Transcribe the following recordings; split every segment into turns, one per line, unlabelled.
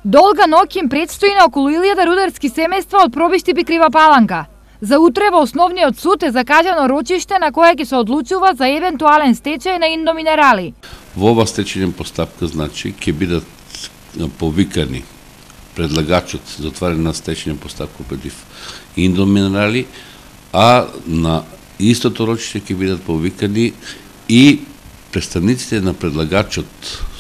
Долга ноќ им предстои на околу 1000 рударски семејства од Пробиштип и Крива Паланка. За утре во Основниот суд е закажано рочиште на кое ќе се одлучува за евентуален стечај на Индоминерали.
Во ова стечајна постапка, значи, ќе бидат повикани предлагачот за отварање на стечајна постапка против Индоминерали, а на истото рочиште ќе бидат повикани и представниците на предлагачот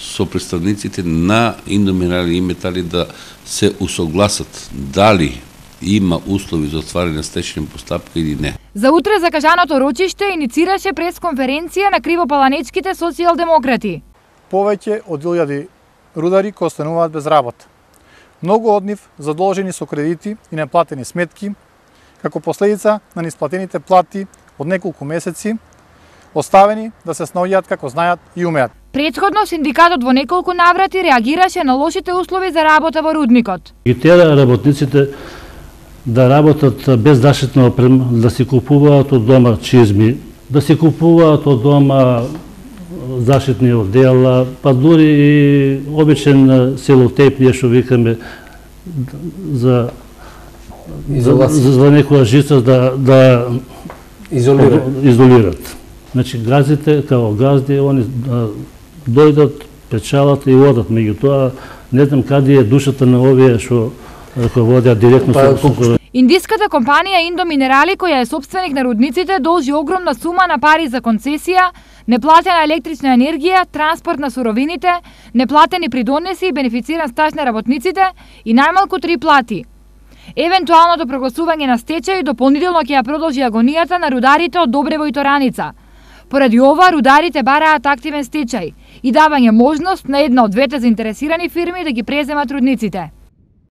со представниците на Индоминерали и Метали да се усогласат дали има услови за отварање на стечајна постапка или не.
За утре закажаното рочиште иницираше пресконференција на кривопаланечките социјалдемократи.
Повеќе од 1000 рудари кои остануваат без работа. Многу од нив задолжени со кредити и неплатени сметки, како последица на неисплатените плати од неколку месеци, оставени да се снаоѓаат како знаат и умеат.
Претходно синдикатот во неколку наврати реагираше на лошите услови за работа во рудникот.
Ги тера работниците да работат без заштитна опрема, да си купуваат од дома чизми, да си купуваат од дома заштитни одела, па дури и обичен селотейп, ние што викаме за некоја жица да изолират. Значи, газите, као газди, они дојдат, печалат и одат. Меѓутоа, не знам каде е душата на овие што водят директно со...
Индиската компанија Индоминерали, која е собственик на рудниците, должи огромна сума на пари за концесија, неплатена електрична енергија, транспорт на суровините, неплатени придонеси и бенефициран стаж на работниците и најмалку 3 плати. Евентуалното прогласување на стечај дополнително ќе ја продолжи агонијата на рударите од Добрево и Тораница. Поради ова, рударите бараат активен стечај и давање можност на една од двете заинтересирани фирми да ги преземат рудниците.